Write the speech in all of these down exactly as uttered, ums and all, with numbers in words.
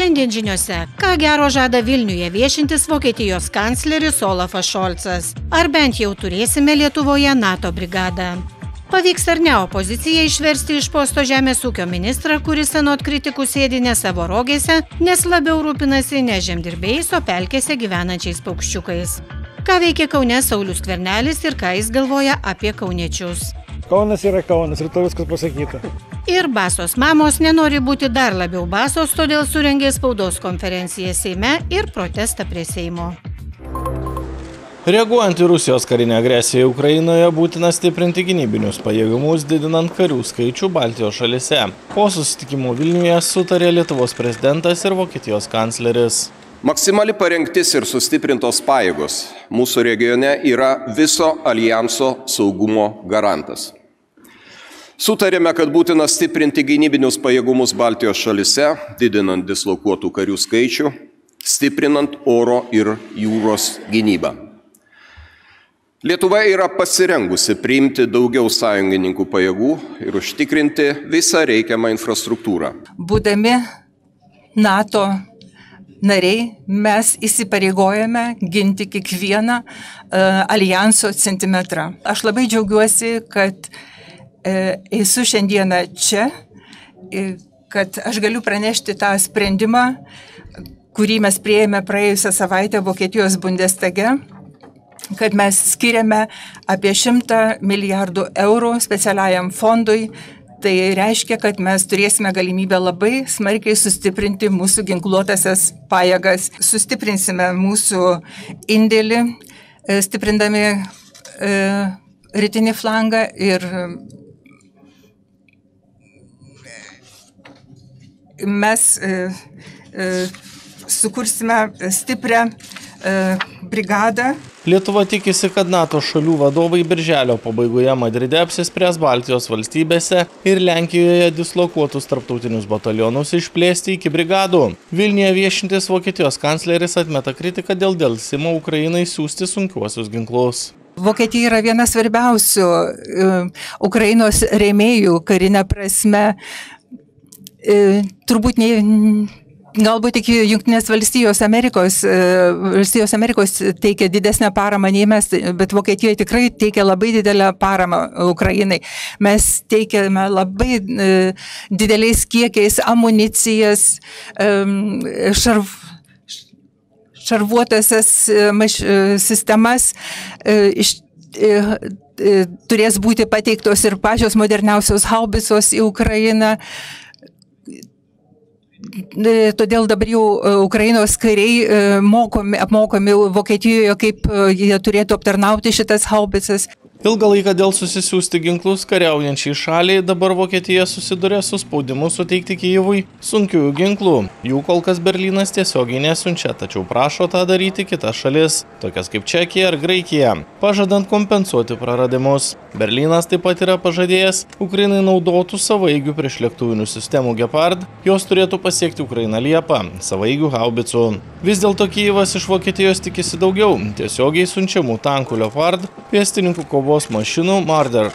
Šiandien žiniose, ką gero žada Vilniuje viešintis Vokietijos kancleris Olafas Šolcas. Ar bent jau turėsime Lietuvoje NATO brigadą? Pavyks ar ne opozicijai išversti iš posto žemės ūkio ministrą, kuris anot kritikų sėdi ne savo rogėse, nes labiau rūpinasi ne žemdirbiais, o pelkėse gyvenančiais paukščiukais. Ką veikia Kaune Saulius Skvernelis ir ką jis galvoja apie kauniečius. Kaunas yra Kaunas, ir to viskas pasakyta. Ir basos mamos nenori būti dar labiau basos, todėl surengė spaudos konferenciją Seime ir protestą prie Seimo. Reaguojant į Rusijos karinę agresiją Ukrainoje, būtina stiprinti gynybinius pajėgumus, didinant karių skaičių Baltijos šalyse. Po susitikimo Vilniuje sutarė Lietuvos prezidentas ir Vokietijos kancleris. Maksimali parengtis ir sustiprintos pajėgos mūsų regione yra viso alijanso saugumo garantas. Sutarėme, kad būtina stiprinti gynybinius pajėgumus Baltijos šalyse, didinant dislokuotų karių skaičių, stiprinant oro ir jūros gynybą. Lietuva yra pasirengusi priimti daugiau sąjungininkų pajėgų ir užtikrinti visą reikiamą infrastruktūrą. Būdami NATO nariai, mes įsipareigojame ginti kiekvieną uh, alijanso centimetrą. Aš labai džiaugiuosi, kad uh, esu šiandieną čia, uh, kad aš galiu pranešti tą sprendimą, kurį mes priėjome praėjusią savaitę Vokietijos Bundestage, kad mes skiriame apie šimtą milijardų eurų specialiajam fondui. Tai reiškia, kad mes turėsime galimybę labai smarkiai sustiprinti mūsų ginkluotasias pajėgas. Sustiprinsime mūsų indėlį, stiprindami e, rytinį flangą ir mes e, e, sukursime stiprią e, brigadą. Lietuva tikisi, kad NATO šalių vadovai birželio pabaigoje Madride apsispręs Baltijos valstybėse ir Lenkijoje dislokuotus tarptautinius batalionus išplėsti iki brigadų. Vilniuje viešintis Vokietijos kancleris atmeta kritiką dėl delsimo Ukrainai siųsti sunkiuosius ginklus. Vokietija yra viena svarbiausių uh, Ukrainos rėmėjų karinė prasme. Uh, turbūt ne... Galbūt tik Jungtinės valstijos Amerikos, valstijos Amerikos teikia didesnę paramą nei mes, bet Vokietijoje tikrai teikia labai didelę paramą Ukrainai. Mes teikiame labai dideliais kiekiais amunicijas, šarv, šarvuotasias sistemas, iš, turės būti pateiktos ir pačios moderniausios haubicos į Ukrainą. Todėl dabar jau Ukrainos kariai mokomi, apmokomi Vokietijoje, kaip jie turėtų aptarnauti šitas haubicas. Ilgą laiką dėl susisiųsti ginklus kariaujančiai šaliai dabar Vokietija susiduria su spaudimu suteikti Kijevui sunkiųjų ginklų. Jų kol kas Berlynas tiesiogiai nesiunčia, tačiau prašo tą daryti kitas šalis, tokias kaip Čekija ar Graikija, pažadant kompensuoti praradimus. Berlynas taip pat yra pažadėjęs Ukrainai naudotų savaigių priešlėktuvinių sistemų Gepard, jos turėtų pasiekti Ukrainą Liepą, savaigių haubicų. Vis dėlto Kijevas iš Vokietijos tikisi daugiau, tiesiogiai siunčiamų tankų Leopard, pėstininkų kovos mašinų Marder.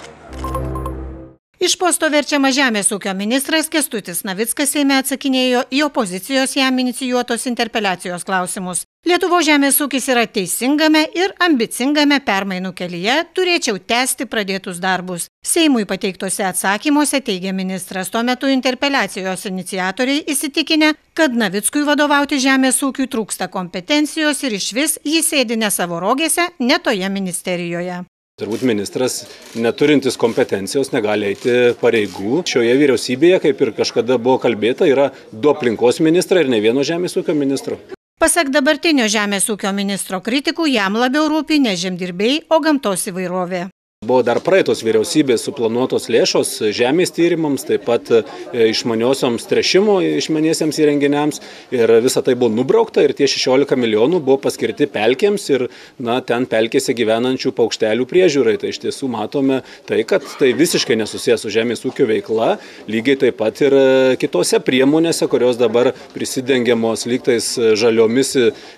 Iš posto verčiamas žemės ūkio ministras Kęstutis Navickas Seime atsakinėjo į opozicijos jam inicijuotos interpeliacijos klausimus. Lietuvos žemės ūkis yra teisingame ir ambicingame permainų kelyje, turėčiau tęsti pradėtus darbus. Seimui pateiktose atsakymuose teigia ministras, tuo metu interpeliacijos iniciatoriai įsitikinę, kad Navickui vadovauti žemės ūkiui trūksta kompetencijos ir išvis jį sėdi ne savo rogėse, ne toje ministerijoje. Turbūt ministras, neturintis kompetencijos, negali eiti pareigų. Šioje vyriausybėje, kaip ir kažkada buvo kalbėta, yra du aplinkos ministrai ir ne vieno žemės ūkio ministro. Pasak dabartinio žemės ūkio ministro kritikų, jam labiau rūpi ne žemdirbiai, o gamtos įvairovė. Buvo dar praeitos vyriausybės suplanuotos lėšos žemės tyrimams, taip pat išmaniosioms tręšimo išmaniesiems įrenginiams ir visa tai buvo nubraukta ir tie šešiolika milijonų buvo paskirti pelkėms ir na, ten pelkėse gyvenančių paukštelių priežiūrai. Tai iš tiesų matome tai, kad tai visiškai nesusijęs su žemės ūkio veikla, lygiai taip pat ir kitose priemonėse, kurios dabar prisidengiamos lygtais žaliomis,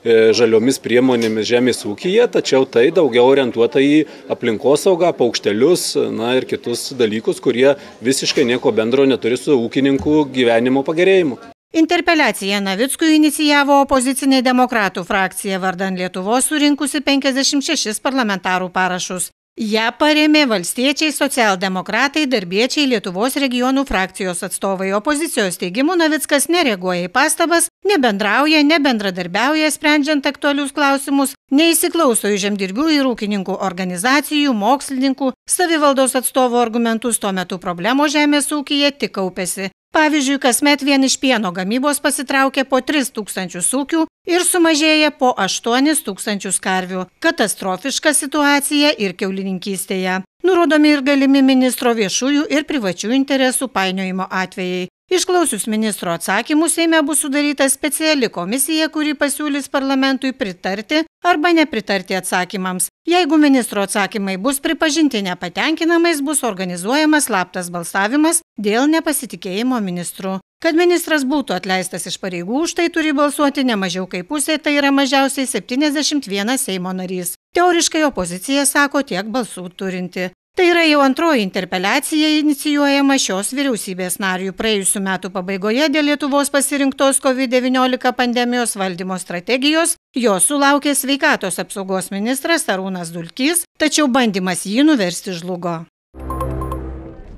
žaliomis priemonėmis žemės ūkyje, tačiau tai daugiau orientuota į aplinkosaugą, paukštelius, na ir kitus dalykus, kurie visiškai nieko bendro neturi su ūkininkų gyvenimo pagerėjimu. Interpeliaciją Navickui inicijavo opozicinė demokratų frakcija vardan Lietuvos surinkusi penkiasdešimt šešis parlamentarų parašus. Ja parėmė valstiečiai, socialdemokratai, darbiečiai, Lietuvos regionų frakcijos atstovai. Opozicijos teigimu Navickas nereaguoja į pastabas, nebendrauja, nebendradarbiauja sprendžiant aktualius klausimus, neįsiklauso į žemdirbių ir ūkininkų organizacijų, mokslininkų, savivaldos atstovų argumentus, tuo metu problemos žemės ūkyje tik kaupėsi. Pavyzdžiui, kasmet vien iš pieno gamybos pasitraukė po tris tūkstančius ūkių ir sumažėja po aštuonis tūkstančius karvių. Katastrofiška situacija ir kiaulininkystėje. Nurodomi ir galimi ministro viešųjų ir privačių interesų painiojimo atvejai. Išklausius ministro atsakymų, Seime bus sudaryta speciali komisija, kuri pasiūlys parlamentui pritarti arba nepritarti atsakymams. Jeigu ministro atsakymai bus pripažinti nepatenkinamais, bus organizuojamas slaptas balsavimas dėl nepasitikėjimo ministru. Kad ministras būtų atleistas iš pareigų, už tai turi balsuoti ne mažiau kaip pusė, tai yra mažiausiai septyniasdešimt vienas Seimo narys. Teoriškai opozicija sako tiek balsų turinti. Tai yra jau antroji interpeliacija inicijuojama šios vyriausybės narių. Praėjusių metų pabaigoje dėl Lietuvos pasirinktos COVID devyniolika pandemijos valdymo strategijos jos sulaukė sveikatos apsaugos ministras Arūnas Dulkys, tačiau bandymas jį nuversti žlugo.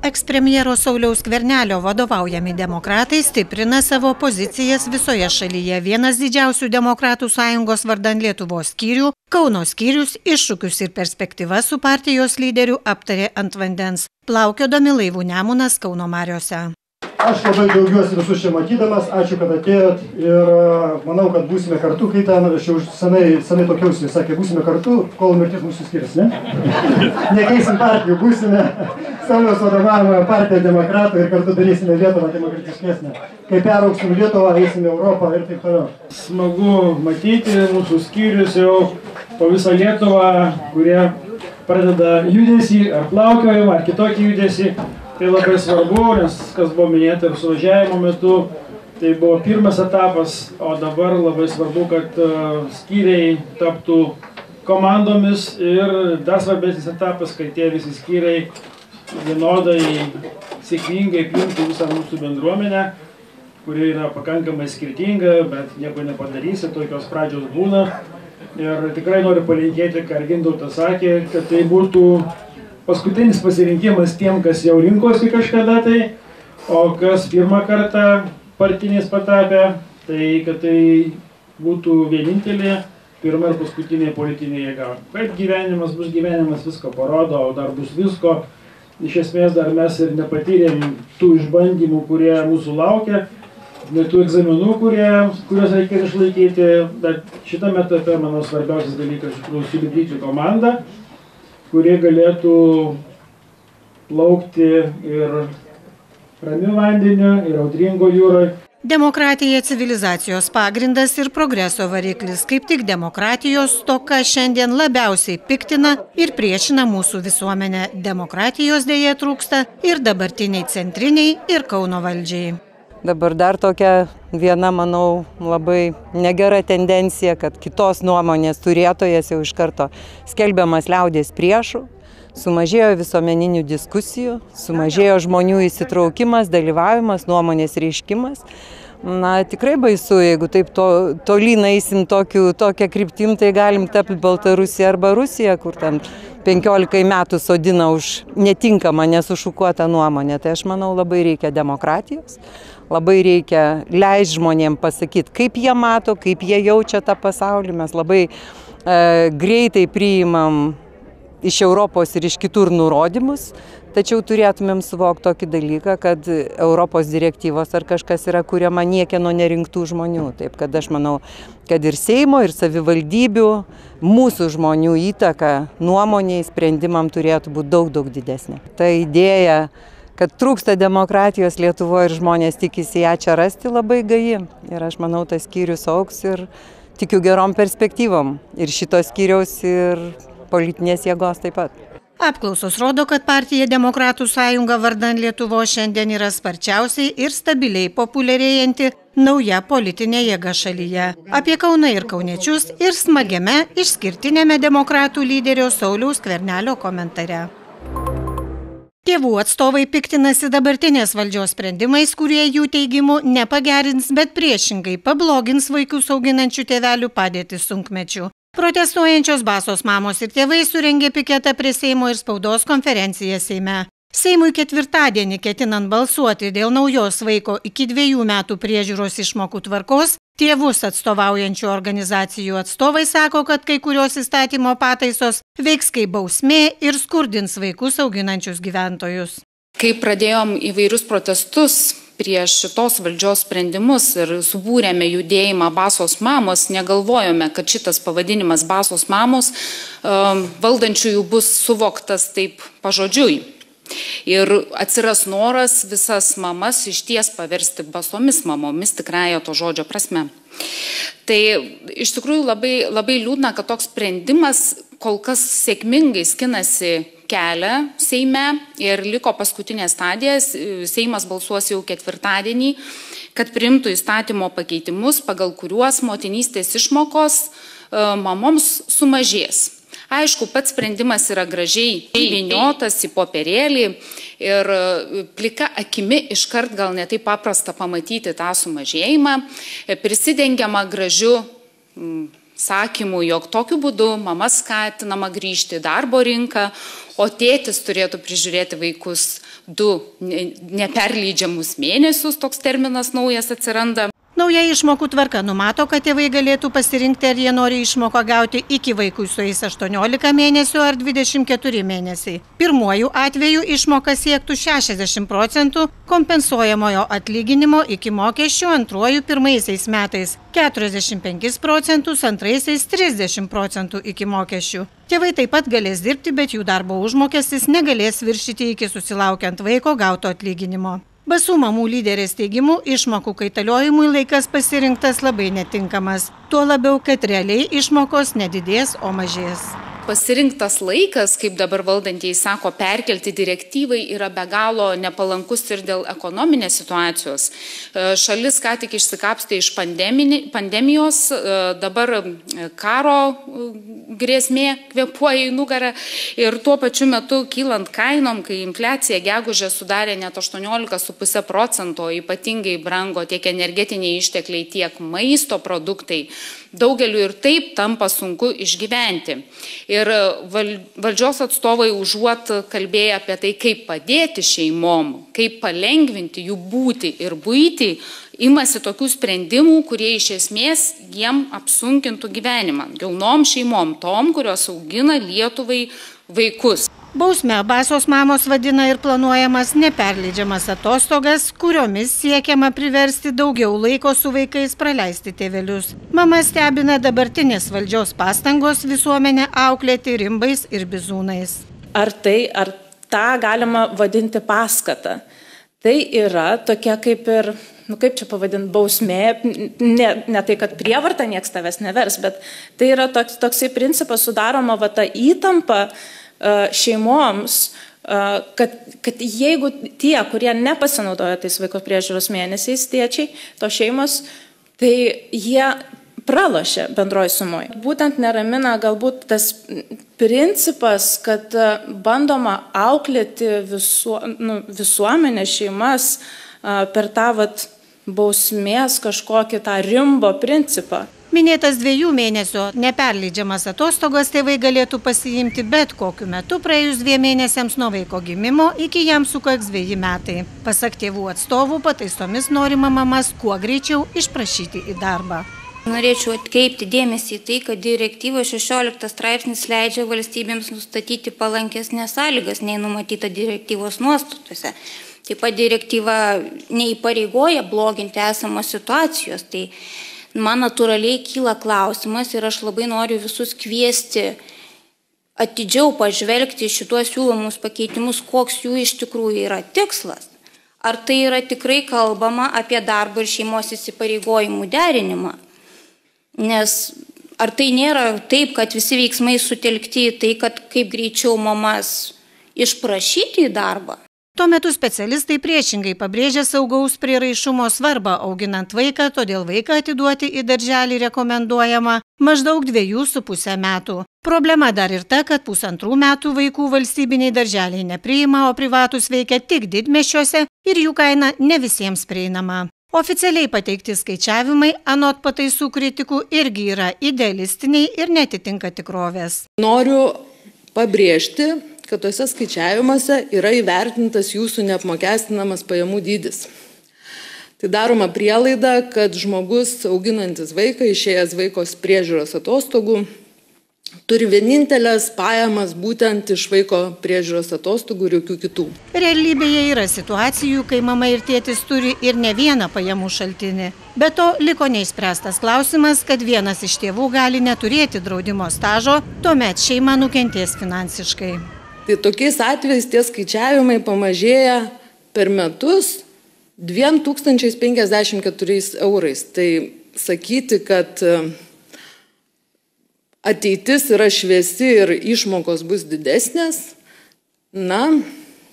Ekspremjero Sauliaus Skvernelio vadovaujami demokratai stiprina savo pozicijas visoje šalyje. Vienas didžiausių demokratų sąjungos vardan Lietuvos skyrių, Kauno skyrius, iššūkius ir perspektyvas su partijos lyderiu aptarė ant vandens, plaukiodami laivų Nemunas Kauno mariose. Aš labai džiaugiuosi visus čia matydamas, ačiū, kad atėjot ir manau, kad būsime kartu, kai ten, aš jau senai, senai tokiausi, sakė, būsime kartu, kol mirtis mūsų skirs, ne? Nekeisim partijų, būsime Sauliaus vadovaujama partija demokratų ir kartu darysime Lietuvą demokratiškesnę. Kai perauksim Lietuvą, eisime Europą ir taip toliau. Smagu matyti mūsų skyrius jau po visą Lietuvą, kurie pradeda judesį, ar plaukiojimą, ar kitokį judesį. Tai labai svarbu, nes kas buvo minėta ir suvažiavimo metu, tai buvo pirmas etapas, o dabar labai svarbu, kad skyriai taptų komandomis ir dar svarbesnis etapas, kad tie visi skyriai vienodai sėkmingai priimtų visą mūsų bendruomenę, kuri yra pakankamai skirtinga, bet nieko nepadarysi, tokios pradžios būna. Ir tikrai noriu palinkėti, ką Gintautas sakė, kad tai būtų paskutinis pasirinkimas tiem, kas jau rinkosi kažkada tai, o kas pirmą kartą partiniais patapė, tai kad tai būtų vienintelė pirma ir paskutinė politinė jėga. Kaip gyvenimas bus gyvenimas, visko parodo, o dar bus visko. Iš esmės dar mes ir nepatyrėm tų išbandymų, kurie mūsų laukia, net tų egzaminų, kurie, kuriuos reikės išlaikyti, bet šitame etape, manau, svarbiausias dalykas iš tikrųjų sulipdyti komandą, kurie galėtų plaukti ir ramiu vandeniu, ir audringo jūroje. Demokratija civilizacijos pagrindas ir progreso variklis. Kaip tik demokratijos stoka šiandien labiausiai piktina ir priešina mūsų visuomenę. Demokratijos dėja trūksta ir dabartiniai centriniai ir Kauno valdžiai. Dabar dar tokia viena, manau, labai negera tendencija, kad kitos nuomonės turėtojas jau iš karto skelbiamas liaudies priešų, sumažėjo visuomeninių diskusijų, sumažėjo žmonių įsitraukimas, dalyvavimas, nuomonės reiškimas. Na, tikrai baisu, jeigu taip to, tolyn eisim tokiu, tokią kryptim, tai galim tapti Baltarusija arba Rusija, kur ten penkiolikai metų sodina už netinkamą, nesušukuotą nuomonę. Tai aš manau, labai reikia demokratijos, labai reikia leisti žmonėm pasakyti, kaip jie mato, kaip jie jaučia tą pasaulį. Mes labai e, greitai priimam iš Europos ir iš kitur nurodymus, tačiau turėtumėm suvokti tokį dalyką, kad Europos direktyvos ar kažkas yra kuriama niekieno nerinktų žmonių. Taip kad aš manau, kad ir Seimo, ir savivaldybių, mūsų žmonių įtaka nuomoniai, sprendimam turėtų būti daug, daug didesnė. Ta idėja, kad trūksta demokratijos Lietuvoje ir žmonės tikisi ją čia rasti, labai gaji. Ir aš manau, tas skyrius augs ir tikiu gerom perspektyvom. Ir šitos skyriaus, ir politinės jėgos taip pat. Apklausos rodo, kad partija Demokratų sąjunga vardan Lietuvos šiandien yra sparčiausiai ir stabiliai populiarėjanti nauja politinė jėga šalyje. Apie Kauną ir kauniečius ir smagiame išskirtinėme demokratų lyderio Sauliaus Skvernelio komentare. Tėvų atstovai piktinasi dabartinės valdžios sprendimais, kurie jų teigimu nepagerins, bet priešingai pablogins vaikus auginančių tėvelių padėtį sunkmečiu. Protestuojančios Basos mamos ir tėvai surengė piketą prie Seimo ir spaudos konferenciją Seime. Seimui ketvirtadienį ketinant balsuoti dėl naujos vaiko iki dviejų metų priežiūros išmokų tvarkos, tėvus atstovaujančių organizacijų atstovai sako, kad kai kurios įstatymo pataisos veiks kaip bausmė ir skurdins vaikus auginančius gyventojus. Kai pradėjom įvairius protestus prieš šitos valdžios sprendimus ir subūrėme judėjimą Basos mamos, negalvojome, kad šitas pavadinimas Basos mamos valdančiųjų bus suvoktas taip pažodžiui. Ir atsiras noras visas mamas išties paversti basomis mamomis tikrąja to žodžio prasme. Tai iš tikrųjų labai, labai liūdna, kad toks sprendimas kol kas sėkmingai skinasi kelią Seime ir liko paskutinė stadija. Seimas balsuos jau ketvirtadienį, kad priimtų įstatymo pakeitimus, pagal kuriuos motinystės išmokos mamoms sumažės. Aišku, pats sprendimas yra gražiai įvyniotas į popierėlį ir plika akimi iškart gal ne taip paprasta pamatyti tą sumažėjimą, prisidengiama gražiu sakymu, jog tokiu būdu mama skatinama grįžti į darbo rinką, o tėtis turėtų prižiūrėti vaikus du neperleidžiamus mėnesius, toks terminas naujas atsiranda. Nauja išmokų tvarka numato, kad tėvai galėtų pasirinkti, ar jie nori išmoką gauti iki vaikui sueis aštuoniolika mėnesių ar dvidešimt keturi mėnesiai. Pirmuoju atveju išmoka siektų šešiasdešimt procentų kompensuojamojo atlyginimo iki mokesčių, antruoju pirmaisiais metais keturiasdešimt penkis procentus, antraisiais trisdešimt procentų iki mokesčių. Tėvai taip pat galės dirbti, bet jų darbo užmokestis negalės viršyti iki susilaukiant vaiko gauto atlyginimo. Basų mamų lyderės teigimu, išmokų kaitaliojimui laikas pasirinktas labai netinkamas. Tuo labiau, kad realiai išmokos nedidės, o mažės. Pasirinktas laikas, kaip dabar valdantieji sako, perkelti direktyvai yra be galo nepalankus ir dėl ekonominės situacijos. Šalis ką tik išsikapstė iš pandemijos, dabar karo grėsmė kvėpuoja į nugarą ir tuo pačiu metu kylant kainom, kai infliacija gegužę sudarė net aštuoniolika su puse procento, ypatingai brango tiek energetiniai ištekliai, tiek maisto produktai, daugeliu ir taip tampa sunku išgyventi. Ir valdžios atstovai užuot kalbėję apie tai, kaip padėti šeimom, kaip palengvinti jų būtį ir buitį, imasi tokių sprendimų, kurie iš esmės jiem apsunkintų gyvenimą. Jaunom šeimom, tom, kurios augina Lietuvai vaikus. Bausme Basos mamos vadina ir planuojamas neperleidžiamas atostogas, kuriomis siekiama priversti daugiau laiko su vaikais praleisti tėvelius. Mama stebina dabartinės valdžios pastangos visuomenę auklėti rimbais ir bizūnais. Ar tai, ar tą galima vadinti paskata? Tai yra tokia kaip ir, nu kaip čia pavadinti, bausmė, ne, ne tai, kad prievarta nieks tavęs nevers, bet tai yra toks, toksai principas sudaroma va ta įtampa šeimoms, kad, kad jeigu tie, kurie nepasinaudoja tais vaiko priežiūros mėnesiais, tėčiai, to šeimos, tai jie pralošia bendroji sumoje. Būtent neramina galbūt tas principas, kad bandoma auklėti visu, nu, visuomenę, šeimas per tą vat, bausmės kažkokį tą rimbo principą. Minėtas dviejų mėnesių neperleidžiamas atostogas tėvai galėtų pasiimti bet kokiu metu praėjus dviem mėnesiams nuo vaiko gimimo iki jam sukaks dveji metai. Pasak tėvų atstovų, pataisomis norima mamas kuo greičiau išprašyti į darbą. Norėčiau atkreipti dėmesį į tai, kad direktyvos šešioliktas straipsnis leidžia valstybėms nustatyti palankesnės sąlygas nei numatyta direktyvos nuostatuose. Taip pat direktyva neįpareigoja bloginti esamos situacijos. Tai man natūraliai kyla klausimas ir aš labai noriu visus kviesti atidžiau pažvelgti šituos siūlomus pakeitimus, koks jų iš tikrųjų yra tikslas. Ar tai yra tikrai kalbama apie darbo ir šeimos įsipareigojimų derinimą? Nes ar tai nėra taip, kad visi veiksmai sutelkti į tai, kad kaip greičiau mamas išprašyti į darbą? Tuo metu specialistai priešingai pabrėžia saugaus prieraišumo svarbą auginant vaiką, todėl vaiką atiduoti į darželį rekomenduojama maždaug dviejų su pusę metų. Problema dar ir ta, kad pusantrų metų vaikų valstybiniai darželiai nepriima, o privatus veikia tik didmiesčiuose ir jų kaina ne visiems prieinama. Oficialiai pateikti skaičiavimai, anot pataisų kritikų, irgi yra idealistiniai ir netitinka tikrovės. Noriu pabrėžti, kad tuose skaičiavimuose yra įvertintas jūsų neapmokestinamas pajamų dydis. Tai daroma prielaida, kad žmogus auginantis vaiką, išėjęs vaikos priežiūros atostogų, turi vienintelės pajamas būtent iš vaiko priežiūros atostogų ir jokių kitų. Realybėje yra situacijų, kai mama ir tėtis turi ir ne vieną pajamų šaltinį. Be to, liko neišspręstas klausimas, kad vienas iš tėvų gali neturėti draudimo stažo, tuomet šeima nukentės finansiškai. Tai tokiais atvejais tie skaičiavimai pamažėja per metus dviem tūkstančiais penkiasdešimt keturiais eurais. Tai sakyti, kad ateitis yra šviesi ir išmokos bus didesnės, na,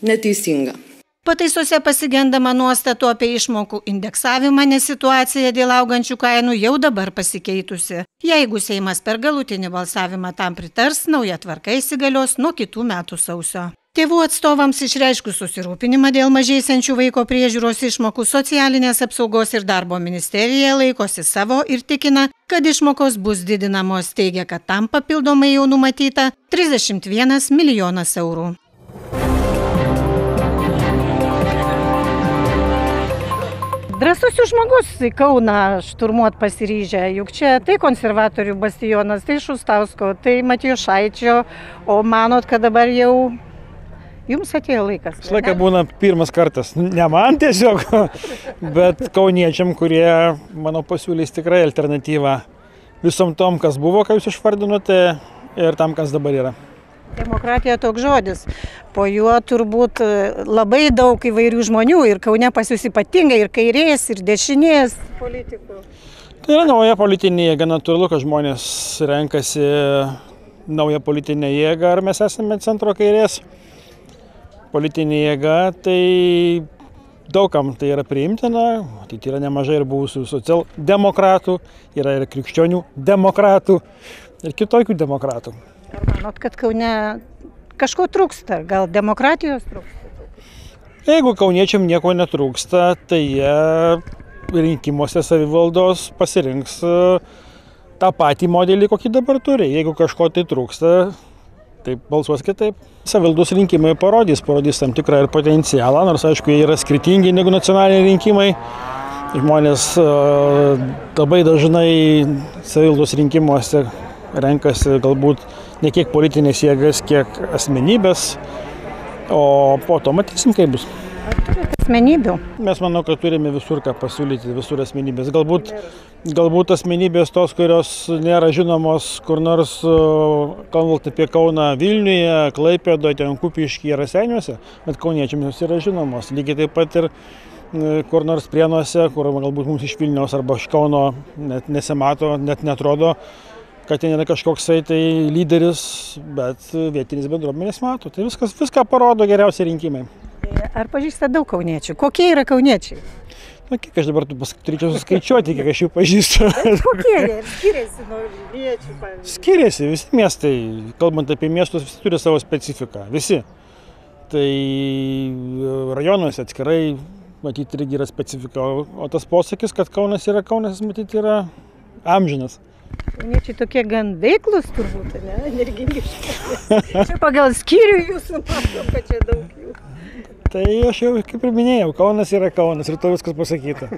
neteisinga. Pataisose pasigendama nuostatų apie išmokų indeksavimą, nes situacija dėl augančių kainų jau dabar pasikeitusi. Jeigu Seimas per galutinį balsavimą tam pritars, nauja tvarka įsigalios nuo kitų metų sausio. Tėvų atstovams išreiškus susirūpinimą dėl mažėsiančių vaiko priežiūros išmokų, Socialinės apsaugos ir darbo ministerija laikosi savo ir tikina, kad išmokos bus didinamos, teigia, kad tam papildomai jau numatyta trisdešimt vienas milijonas eurų. Drąsus žmogus į Kauną šturmuot pasiryžę, juk čia tai konservatorių bastionas, tai Šustausko, tai Matijošaičio, o manot, kad dabar jau jums atėjo laikas? Visą laiką būna pirmas kartas, ne man tiesiog, bet kauniečiam, kurie, manau, pasiūlys tikrai alternatyvą visom tom, kas buvo, ką jūs išvardinote, ir tam, kas dabar yra. Demokratija toks žodis, po juo turbūt labai daug įvairių žmonių ir Kaune pas jūs ypatingai ir kairės, ir dešinės politikų. Tai yra nauja politinė jėga, natūralu, kad žmonės renkasi naują politinę jėgą, ar mes esame centro kairės. Politinė jėga, tai daugam tai yra priimtina, tai yra nemažai ir buvusių socialdemokratų, yra ir krikščionių demokratų, ir kitokių demokratų. Ar manot, kad Kaune kažko trūksta, gal demokratijos trūksta? Jeigu kauniečiam nieko netrūksta, tai jie rinkimuose savivaldos pasirinks tą patį modelį, kokį dabar turi. Jeigu kažko tai trūksta, taip balsuos kitaip. Savivaldos rinkimai parodys, parodys tam tikrą ir potencialą, nors aišku, jie yra skirtingi negu nacionaliniai rinkimai. Žmonės labai dažnai savivaldos rinkimuose renkasi galbūt ne kiek politinės jėgas, kiek asmenybės, o po to matysim, kaip bus. Ar turite asmenybių? Mes manau, kad turime visur ką pasiūlyti, visur asmenybės. Galbūt, galbūt asmenybės tos, kurios nėra žinomos kur nors, kalbant apie Kauną Vilniuje, Klaipėdoje, ten Kupiškyje, Raseiniuose, bet kauniečiams jos yra žinomos. Lygiai taip pat ir kur nors Prienuose, kur galbūt mums iš Vilniaus arba iš Kauno net nesimato, net netrodo, kad ten yra kažkoksai tai lyderis, bet vietinis bendruomenės mato. Tai viskas, viską parodo geriausiai rinkimai. Ar pažįsta daug kauniečių? Kokie yra kauniečiai? Na, kiek aš dabar turėčiau suskaičiuoti, kiek aš jų pažįstu. Kokie jie? Skiriasi nuo Vilniečių, pavyzdžiui? Skiriasi, visi miestai, kalbant apie miestus, visi turi savo specifiką, visi. Tai rajonuose atskirai, matyti, irgi yra specifika, o tas posakis, kad Kaunas yra Kaunas, matyti, yra amžinas. Kauniečiai tokie gan veiklus turbūt, ne? Energingiški. Čia pagal skyrių jūsų matom, kad čia daug jų. Tai aš jau kaip ir minėjau, Kaunas yra Kaunas ir to viskas pasakyta.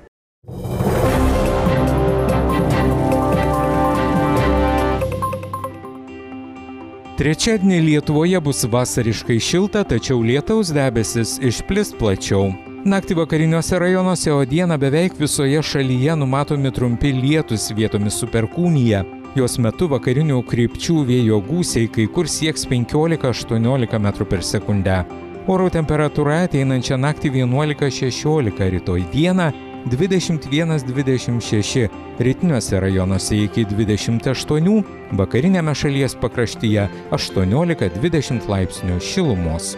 Trečiadienį Lietuvoje bus vasariškai šilta, tačiau lietaus debesis išplis plačiau. Naktį vakariniuose rajonuose, o dieną beveik visoje šalyje numatomi trumpi lietūs, vietomis su perkūnija. Jos metu vakarinių krypčių vėjo gūsiai kai kur sieks penkiolika aštuoniolika metrų per sekundę. Oro temperatūra ateinančią naktį vienuolika šešiolika, rytoj dieną dvidešimt vienas dvidešimt šeši, rytiniuose rajonuose iki dvidešimt aštuonių, vakariniame šalies pakraštyje aštuoniolika dvidešimt laipsnių šilumos.